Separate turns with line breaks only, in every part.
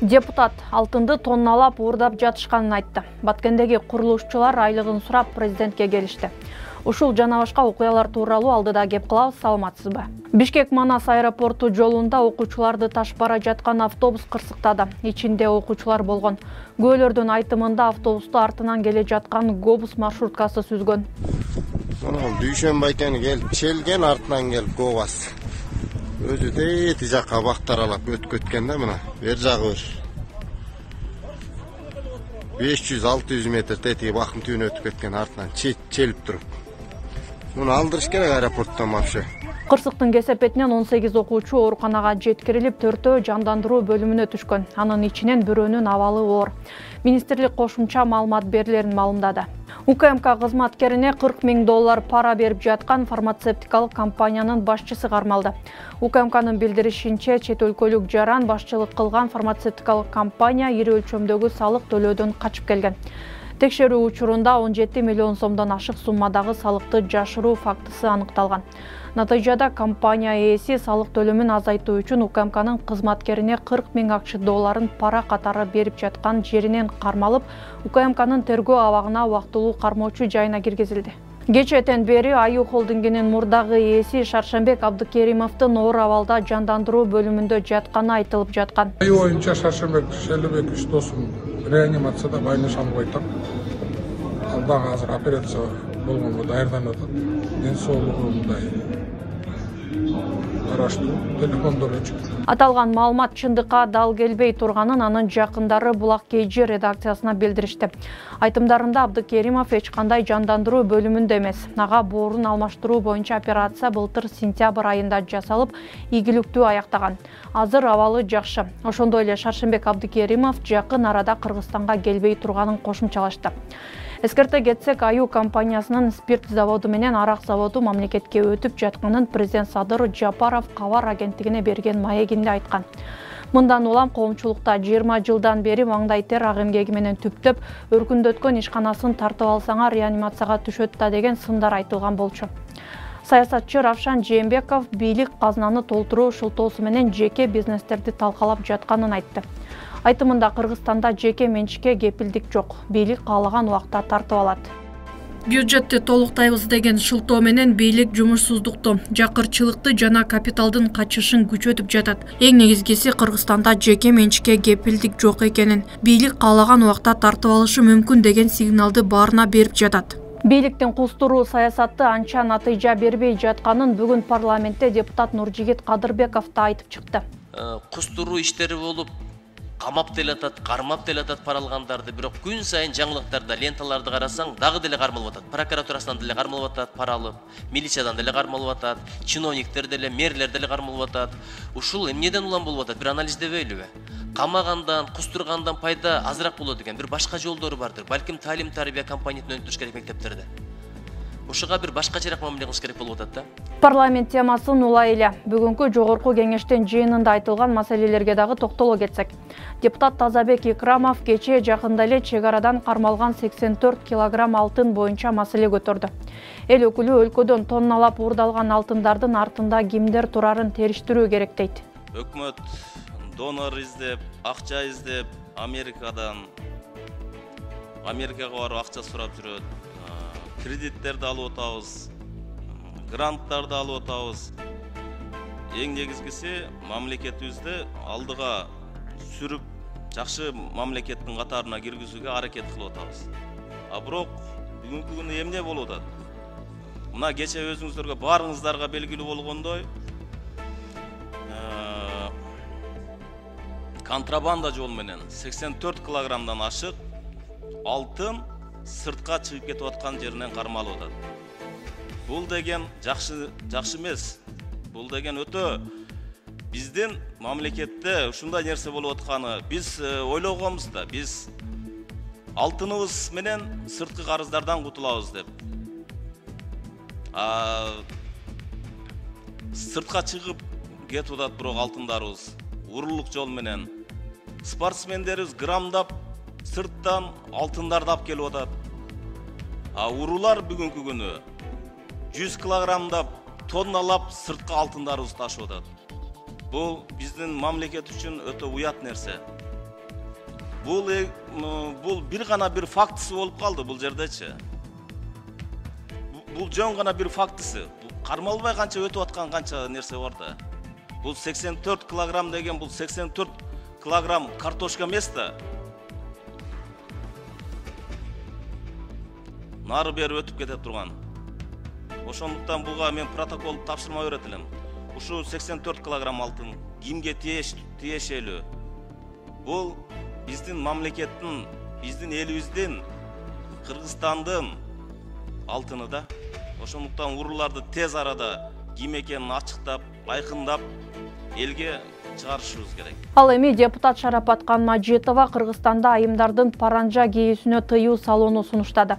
Депутат алтынды тонналап уурдап жатышканын айтты. Баткендеги курулушчулар айлыгын сурап президентке келишти. Ушул жана башка окуялар тууралуу алдыда кеп кылабыз, саламатсызбы? Бишкек-Манас аэропорту жолунда окуучуларды ташып бара жаткан автобус кырсыктады. Ичинде окуучулар болгон. Күбөлөрдүн айтымында автобусту артынан келе жаткан Гобус маршруткасы сүзгөн.
Дүйшөнбай экен келип челген, артынан келип Гобас. Өзү тети жакка бактаралап өтүп кеткен да, мына бер жагы бир 500-600 метр тети бакым түбүнө өтүп кеткен, артынан челип туруп. Муну алдырыш керек аэропорттон вообще.
Кырсыктын кесепетинен 18 окуучу ооруканага жеткирилип, 4-өө жандандыруу бөлүмүнө түшкөн. Анын ичинен бирөөнүн абалы оор. Министрлик кошумча маалымат берилерин маалымдады. УКМК кызматкерине $40,000 пара берип жаткан фармацевтикалык компаниянын башчысы кармалды. УКМКнын билдиришинче, чет өлкөлүк жаран башчылык кылган фармацевтикалык компания ири өлчөмдөгү салык төлөөдөн качып келген. Текшерүү учурунда 17 миллион сомдон ашык суммадагы салыкты жашыруу фактысы аныкталган. Натыйжада компания ээси салык төлөмүн азайтуу үчүн УКМКнын кызматкерине $40,000 пара катары берип жаткан жеринен кармалып, УКМКнын тергөө абагына убактылуу кармоочу жайына киргизилди. Кечээден бери Аю холдингинин мурдагы ээси Шаршембек Абдыкеримовдун оор абалда жандандыруу бөлүмүндө жатканы айтылып жаткан.
Аю боюнча Шаршембек Шелебекович досум реанимацияда байлашам койтам. Ал дагы азыр операция болгонго даярданып атат. Ден соолугу мындай караштуу, телефондор өчүк.
Аталган маалымат чындыкка дал келбей турганын анын жакындары Булак KG редакциясына билдиришти. Айтымдарында Абдыкеримов эч кандай жандандыруу бөлүмүндө эмес. Ага боорун алмаштыруу боюнча операция былтыр сентябрь айында жасалып, ийгиликтүү аяктаган. Азыр абалы жакшы. Ошондой эле Шаршембек Абдыкеримов жакын арада Кыргызстанга келбей турганын кошумчалашты. Эскерте кетсек, Аю компаниясынын спирт заводу менен арак заводу мамлекетке өтүп жатканын президент Садыр Жапаров кабар агенттигине берген маегинде айткан. Мындан улам коомчулукта 20 жылдан бери маңдай тер ак эмгеги менен түптөп өркүндөткөн ишканасын тартып алсаңар реанимацияга түшөт да деген сындар айтылган болчу. Саясатчы Равшан Жээнбеков бийлик казынаны толтуруу шылтоосу менен жеке бизнестерди талкалап жатканын айтты. Айтымында Кыргызстанда жеке менчикке кепилдик жок. Бийлик каалаган убакта тартып алат. Бюджетти толуктайбыз деген шылтоо менен бийлик жумушсуздукту, жакырчылыкты жана капиталдын качышын күчөтүп жатат. Эң негизгиси Кыргызстанда жеке менчикке кепилдик жок экенин, бийлик каалаган убакта тартып алышы мүмкүн деген сигналды баарына берип жатат. Бийликтин кустуруу саясаты анча натыйжа бербей жатканын бүгүн парламентте депутат Нуржигит Кадырбеков да айтып чыкты.
Кустуруу иштери болуп, камап делатат, кармап делатат пара алгандарды, бирок күн сайын жаңылыктарда, ленталарды карасаң, дагы деле кармалып атат. Прокуратурасынан деле кармалып атат, пара алып, милициядан деле кармалып атат, чиновниктер деле, мэрлер деле кармалып атат. Ушул эмнеден улам болуп атат? Бир анализдебейлүбү? Камагандан, кустургандан пайда азыраак болот экен, бир башка жолдору бардыр. Балким талим-тарбия компонентин өнүктүрүш керек мектептерде. Ушуга бир башкачараак мамиле кылыш керек болуп атат да.
Парламент темасын улай эле бүгүнкү жогорку кеңештин жыйынында айтылган маселелерге дагы токтоло кетсек. Депутат Тазабек Икрамов кечээ жакында эле чек арадан кармалган 84 килограмм алтын боюнча маселе көтөрдү. Эл өкүлү өлкөдөн тонналап уурдалган алтындардын артында кимдер турарын териштирүү керек дейт.
Өкмөт донор издеп, акча издеп, Америкага барып акча сурап жүрөт. Кредиттерди алып атабыз, гранттарды алып атабыз. Эң негизгиси мамлекетибизди алдыга сүрүп, жакшы мамлекеттин катарына киргизүүгө аракет кылып атабыз. А бирок бүгүнкү күндө эмне болуп атат? Мына кече өзүңүздөргө баарыңыздарга белгилүү болгондой, контрабанда жол менен 84 килограммдан ашык алтын сыртка чыгып кетип аткан жеринен кармалып атат. Бул деген жакшы эмес. Бул деген өтө биздин мамлекетте ушундай нерсе болуп атканы биз ойлогонбуз да, биз алтыныбыз менен сырткы карыздардан кутулабыз деп. Сыртка чыгып кетип атат бирок алтындарыбыз урурлук жол менен. Спортсмендерибиз граммдап сырттан алтындарды алып келип атат. Урулар бүгүнкү күнү 100 килограммдап, тонналап сырткы алтындарыбызды ташып атат. Бул биздин мамлекет үчүн өтө уят нерсе. бул бир гана бир фактысы болуп калды бул жердечи. Бул жөн гана бир фактысы. Кармалбай канча өтүп аткан канча нерсе бар да. Бул 84 килограмм деген бул 84 килограмм картошка эмес да. Нары бери өтүп кетип турган. Ошондуктан буга мен протокол тапшырма берет элем. Ушу 84 килограмм алтын кимге тиешелүү? Бул биздин мамлекеттин, биздин элибиздин, Кыргызстандын алтыны да. Ошондуктан урууларды тез арада ким экенин ачыктап, айкындап элге чыгарышыбыз керек.
Ал эми депутат Шарапат Канмажитова Кыргызстанда айымдардын паранжа кийүүсүнө тыюу салууну сунуштады.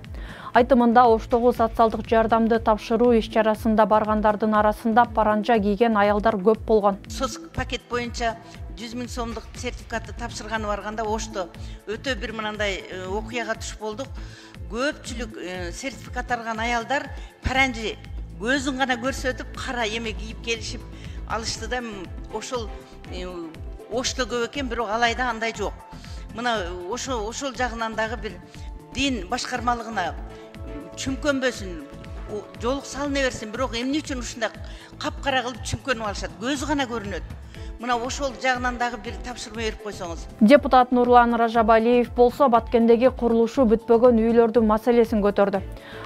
Айтымында Оштогу социалдык жардамды тапшыруу иш-чарасында баргандардын арасында паранжа кийген аялдар көп болгон.
СОС пакет боюнча 100 000 сомдук сертификатты тапшырганы барганда Ошто өтө бир мындай окуяга түшүп болдук. Көпчүлүк сертификат алган аялдар паранжы көзүн гана көрсөтүп, кара эме кийип келишип алышты да. Ошол Ошто көп экен, бирок алайда андай жок. Мына ошол жагынан дагы бир дин башкармалыгына чүмкөнбөсүн, жолук салына берсин, бирок эмне үчүн ушундай капкара кылып чүмкөнүп алышат? Көзү гана көрүнөт. Мына ошол жагынан дагы бир тапшырма берип койсоңуз.
Депутат Нурлан Ражабалиев болсо Баткендеги курулушу бүтпөгөн үйлөрдүн маселесин көтөрдү.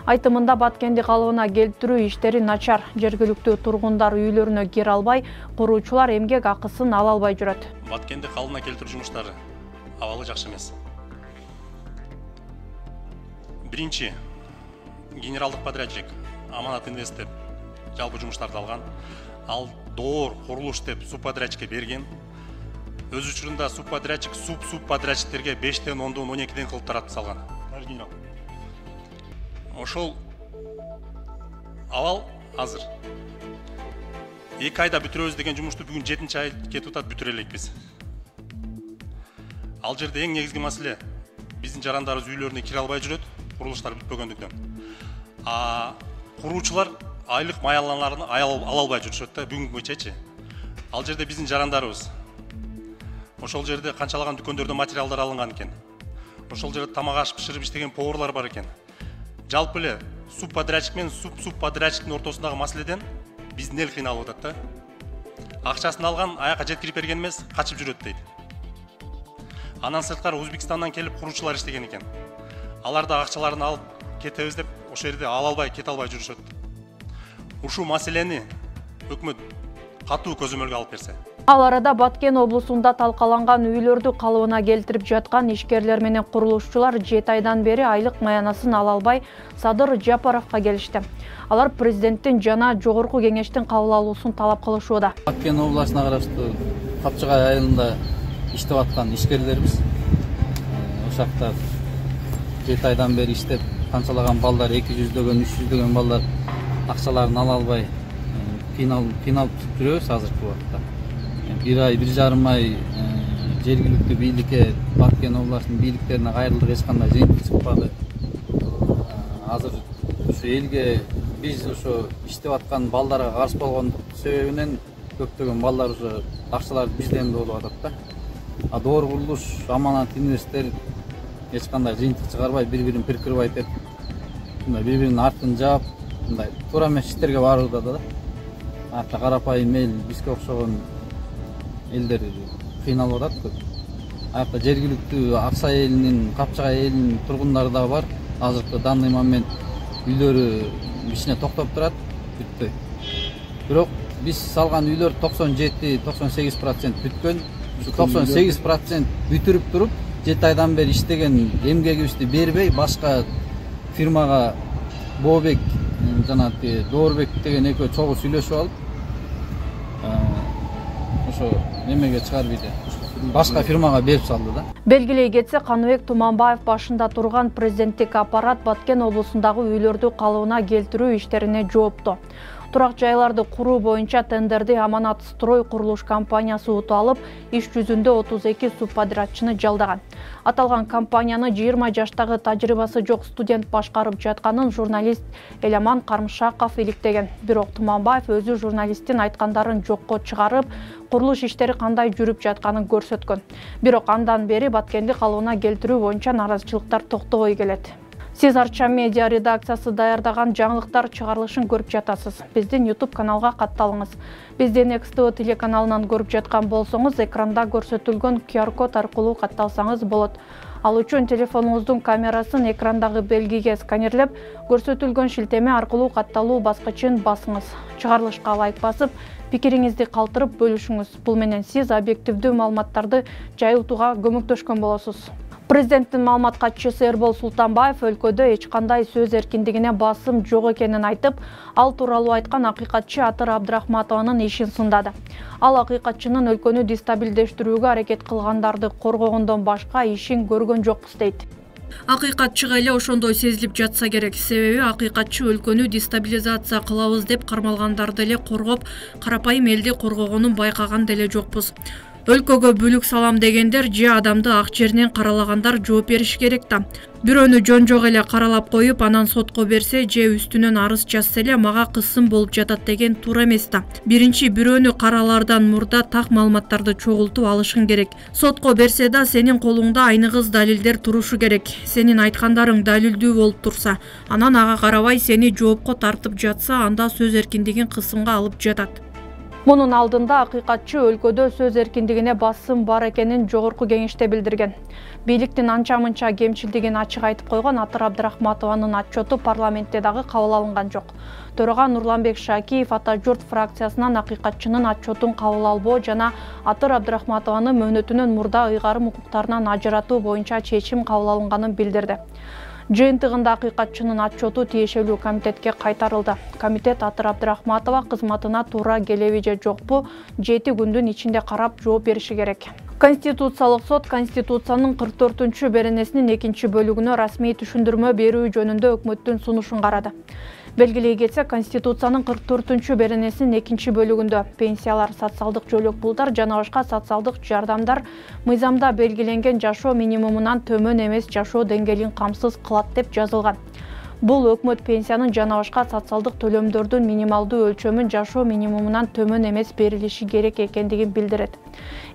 Айтымында Баткенди калыбына келтирүү иштери начар. Жергиликтүү тургундар үйлөрүнө кире албай, куруучулар эмгек акысын ала албай жүрөт.
Баткенди калыбына келтирүү жумуштары абалы жакшы эмес. Биринчи, генералдык подрядчик Аманат Инвест деп жалпы жумуштарды алган. Ал доор курулуш деп субподрядчикке берген. Өз учурунда субподрядчик субподрядчиктерге 5-тен 10-дон 12-ден кылып таратып салган. Ошол абал азыр 2 айда бүтүрөбүз деген жумушту бүгүн 7-чи ай кетип атат, бүтүрө элекпиз. Ал жерде эң негизги маселе биздин жарандарыбыз үйлөрүнө кире албай жүрөт, курулуштар бүтпөгөндүктөн. Куруучулар айлык маяланаларын ала албай жүрүшөт да, бүгүнкү боюнчачы. Ал жерде биздин жарандарыбыз. Ошол жерде канчалаган дүкөндөрдөн материалдар алынган экен. Ошол жерде тамак аш бышырып иштеген поварлар бар экен. Жалпы эле субподрядчик менен субподрядчиктин ортосундагы маселеден биздин эл кыйналып атат да. Акчасын алган, аяка жеткирип берген эмес, качып жүрөт дейт. Анан сырткары Өзбекстандан келип куруучулар иштеген экен. Алар да акчаларын алып кетебиз деп ошол жерде ала албай, кете албай жүрүшөт. Ушу маселени өкмөт катуу көзөмөлгө алып берсе.
Ал арада Баткен облусунда талкаланган үйлөрдү калыбына келтирип жаткан ишкерлер менен курулушчулар 7 айдан бери айлык маянасын ала албай Садыр Жапаровго келишти. Алар президенттин жана жогорку кеңештин кабыл алуусун талап кылышууда.
Баткен областына караштуу Капчыгай айылында иштеп аткан ишкерлербиз. Ошакта 7 айдан бери иштеп, канчалаган балдар 200дөгөн, 300дөгөн балдар акчаларын ала албай кыйналып жүрөбүз азыркы убакытта. 1 ай, 1,5 ай жергиликтүү бийликке, Баткен областынын бийликтерине кайрылдык, эч кандай жыйынтык чыкпады. Азыр ушу элге биз ошо иштеп аткан балдарга каршы болгон себебинен көптөгөн балдар уже акчаларды бизден болуп атат да. Доор курулуш, Аманат Инвесттер эч кандай жыйынтык чыгарбай, бири-бирин прикрывать этип, бири-биринин артын жаап, мындай туура эмес иштерге барууда да. Ата карапайым эл, бизге окшогон элдер кыйналып атат көп. Аякта жергиликтүү Аксай элинин, Капчыгай элинин тургундары да бар. Азыркы данный момент үйлөрү кичине токтоп турат, бүтпөй. Бирок биз салган үйлөр 97-98% бүткөн. 98% бүтүрүп туруп, 7 айдан бери иштеген эмгегибизди бербей, башка фирмага Бообек жана Доорбек деген экөө чогуу сүйлөшүп алып, ошо эмеге чыгарып ийди. Башка фирмага берип салды да.
Белгилей кетсе, Каныбек Туманбаев башында турган президенттик аппарат Баткен облусундагы үйлөрдү калыбына келтирүү иштерине жоопту. Турак жайларды куруу боюнча тендерди Аманат Строй курулуш компаниясы утуп алып, иш жүзүндө 32 субподрядчыны жалдаган. Аталган компанияны 20 жаштагы тажрыйбасы жок студент башкарып жатканын журналист Эламан Кармшаков иликтеген. Бирок Туманбаев өзү журналисттин айткандарын жокко чыгарып, курулуш иштери кандай жүрүп жатканын көрсөткөн. Бирок андан бери Баткенди калыбына келтирүү боюнча наразычылыктар токтобой келет. Сиз Арча медиа редакциясы даярдаган жаңылыктар чыгарылышын көрүп жатасыз. Биздин YouTube каналга катталыңыз. Биздин XTV телеканалынан көрүп жаткан болсоңуз, экранда көрсөтүлгөн QR-код аркылуу катталсаңыз болот. Ал үчүн телефонуңуздун камерасын экрандагы белгиге сканерлеп, көрсөтүлгөн шилтеме аркылуу катталуу баскычын басыңыз. Чыгарылышка лайк басып, пикириңизди калтырып бөлүшүңүз. Бул менен сиз объективдүү маалыматтарды жайылтууга көмөктөшкөн болосуз. Президенттин маалымат катчысы Эрбол Султанбаев өлкөдө эч кандай сөз эркиндигине басым жок экенин айтып, ал тууралуу айткан акыйкатчы Атыр Абдрахматованын ишин сындады. Ал акыйкатчынын өлкөнү дестабилдештирүүгө аракет кылгандарды коргогондон башка ишин көргөн жокпуз дейт. Акыйкатчыга эле ошондой сезилип жатса керек. Себеби акыйкатчы өлкөнү дестабилизация кылабыз деп кармалгандарды эле коргоп, карапайым элди коргогонун байкаган деле жокпуз. Өлкөгө бүлүк салам дегендер же адамды ак жеринен каралагандар жооп бериши керек да. Бирөөнү жон-жок эле каралап коюп, анан сотко берсе же үстүнөн арыз жазса эле мага кысым болуп жатат деген туура эмес да. Биринчи бирөөнү каралаардан мурда так маалыматтарды чогултуп алышың керек. Сотко берсе да сенин колуңда айныгыз далилдер турушу керек. Сенин айткандарың далилдүү болуп турса, анан ага карабай сени жоопко тартып жатса, анда сөз эркиндигин кысымга алып жатат. Мунун алдында акыйкатчы өлкөдө сөз эркиндигине басым бар экенин жогорку кеңеште билдирген. Бийликтин анча-мынча кемчилдигин ачык айтып койгон Атыр Абдрахматованын отчету парламентте дагы кабыл алынган жок. Төрага Нурланбек Шакиев Ата журт фракциясынан акыйкатчынын отчетун кабыл албоо жана Атыр Абдрахматованы мөөнөтүнөн мурда ыйгарым укуктарынан ажыратуу боюнча чечим кабыл алынганын билдирди. Жыйынтыгында акыйкатчынын отчету тиешелүү комитетке кайтарылды. Комитет Атыр Абдрахматова кызматына туура келеби же жокпу 7 күндүн ичинде карап жооп бериши керек. Конституциялык сот Конституциянын 44-чү беренесинин 2-бөлүгүнө расмий түшүндүрмө берүү жөнүндө өкмөттүн сунушун карады. Белгилей кетсе, Конституциянын 44-чү беренесинин 2-бөлүгүндө пенсиялар, социалдык жөлөк пулдар жана башка социалдык жардамдар мыйзамда белгиленген жашоо минимумунан төмөн эмес жашоо деңгээлин камсыз кылат деп жазылган. Бул өкмөт пенсиянын жана башка социалдык төлөмдөрдүн минималдуу өлчөмүн жашоо минимумунан төмөн эмес берилиши керек экендигин билдирет.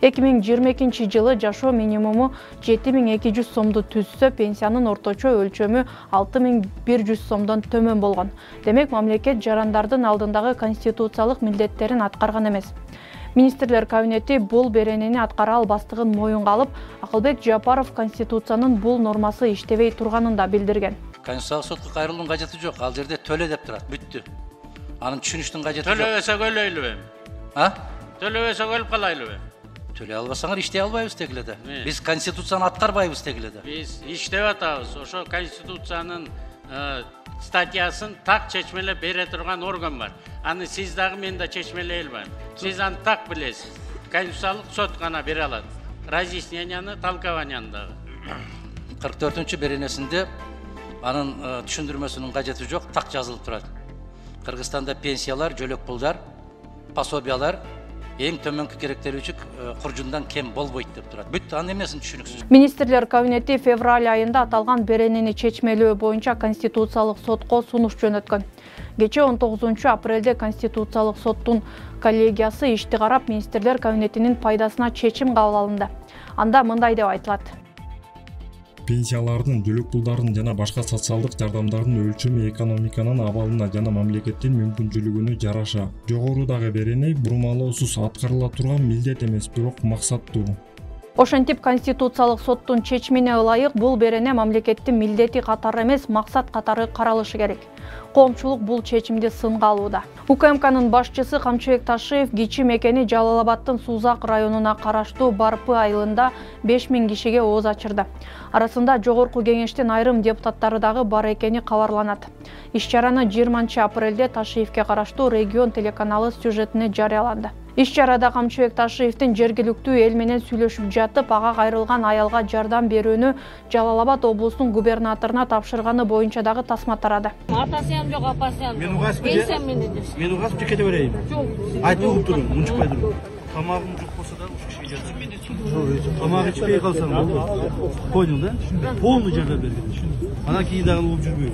2022-жылы жашоо минимуму 7200 сомду түзсө, пенсиянын орточо өлчөмү 6100 сомдон төмөн болгон. Демек, мамлекет жарандардын алдындагы конституциялык милдеттерин аткарган эмес. Министрлер кабинети бул беренени аткара албастыгын моюнга алып, Акылбек Жапаров Конституциянын бул нормасы иштебей турганын да билдирген.
Конституциялык сотко кайрылуунун кажети жок. Ал жерде төлө деп турат, бүттү. Анын түшүнүштүн кажети жок.
Төлөбөсө өлөйлүбү? Төлөбөсө өлүп калайлыбы?
Төлөй албасаңар иштей албайбыз дегиле да. Биз Конституцияны аткарбайбыз дегиле да.
Биз иштеп атабыз. Ошо Конституциянын статьясын так чечмелеп бере турган орган бар. Аны сиз дагы мен да чечмелей албайм. Сиз аны так билесиз. Конституциялык сот гана бере алат. Разъясненияны, толкованияны дагы.
44-чү беренесинде анын түшүндүрмөсүнүн кажети жок, так жазылып турат. Кыргызстанда пенсиялар, жөлөк пулдар, пособиялар эң төмөнкү керектелүүчү куржундан кем болбойт деп турат. Бүт анын эмесин түшүнүксүз.
Министрлер кабинети февраль айында аталган беренени чечмелөө боюнча Конституциялык сотко сунуш жөнөткөн. Кечээ 19-апрелде Конституциялык соттун коллегиясы ишти карап, Министрлер кабинетинин пайдасына чечим кабыл алынды. Анда мындай деп айтылат.
Пенсиялардын, жөлөк пулдардын жана башка социалдык жардамдардын өлчөмү экономиканын абалына жана мамлекеттин мүмкүнчүлүгүнө жараша. Жогорудагы берене бурмалоосуз аткарыла турган милдет эмес, бирок максаттуу.
Ошентип, Конституциялык соттун чечимине ылайык бул берене мамлекеттин милдети катары эмес, максат катары каралышы керек. Коомчулук бул чечимди сынга алууда. УКМКнын башчысы Камчыбек Ташиев кичи мекени Жалал-Абадтын Сузак районуна караштуу Барпы айылында 5000 кишиге ооз ачырды. Арасында жогорку кеңештин айрым депутаттары дагы бар экени кабарланат. Иш чараны 20 апрелде Ташиевке караштуу Регион телеканалы сюжетине жарыяланды. Иш чарада Камчы Бекташиевдин жергиликтүү эл менен сүйлөшүп жатып, ага кайрылган аялга жардам берүүнү Жалал Абад облусунун губернаторуна тапшырганы боюнча дагы тасма тарады.
Атасыям жок, апасыям жок.
Мен угасып кете берейин. Айтып угуп турун, унчукпай турун. Тамагым жок болсо да уш кишиге жардам. Тамак ичпей калсаң болду. Понял да? Полный жардам бергин. Анан кийин дагы угуп жүрбөй.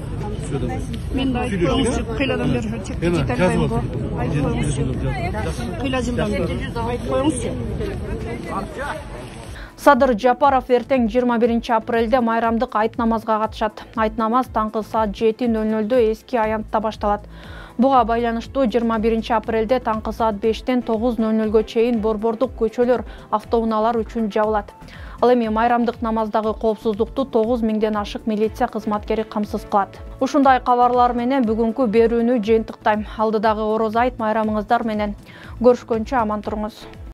Мен айтып кыйладан бери чек айтпайм го. Кыйла жылдан бери айтып коюңузчу.
Садыр Жапаров эртең 21 апрелде майрамдык айт намазга катышат. Айт намаз таңкы саат 7:00 эски аянтта башталат. Буга байланыштуу 21 апрелде таңкы саат 5-тен 9:00 чейин борбордук көчөлөр автоунаалар үчүн жабылат. Ал эми майрамдык намаздагы коопсуздукту 9000ден ашык милиция кызматкери камсыз кылат. Ушундай кабарлар менен бүгүнкү берүүнү жыйынтыктайм. Алдыдагы Ороз айт майрамыңыздар менен көрүшкөнчө аман туруңуз.